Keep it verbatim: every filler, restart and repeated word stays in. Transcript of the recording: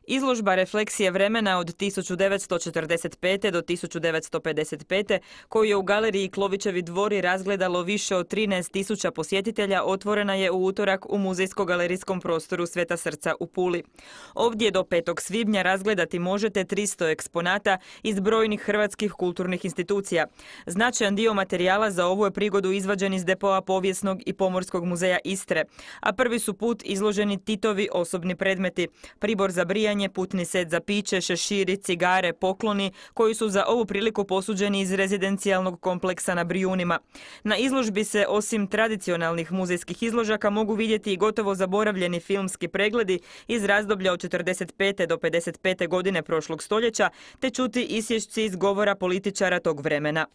Izložba Refleksije vremena od tisuću devetsto četrdeset pete. do tisuću devetsto pedeset pete. koju je u galeriji Klovićevi dvori razgledalo više od trinaest tisuća posjetitelja, otvorena je u utorak u muzejsko-galerijskom prostoru Sveta Srca u Puli. Ovdje do petog svibnja razgledati možete tristo eksponata iz brojnih hrvatskih kulturnih institucija. Značajan dio materijala za ovu je prigodu izvađen iz depoa Povijesnog i Pomorskog muzeja Istre, a prvi su put izloženi Titovi osobni predmeti, pribor za brijanje, putni set za piće, šeširi, cigare, pokloni, koji su za ovu priliku posuđeni iz rezidencijalnog kompleksa na Brijunima. Na izložbi se, osim tradicionalnih muzejskih izložaka, mogu vidjeti i gotovo zaboravljeni filmski pregledi iz razdoblja od četrdeset pete. do pedeset pete. godine prošlog stoljeća, te čuti isječci iz govora političara tog vremena.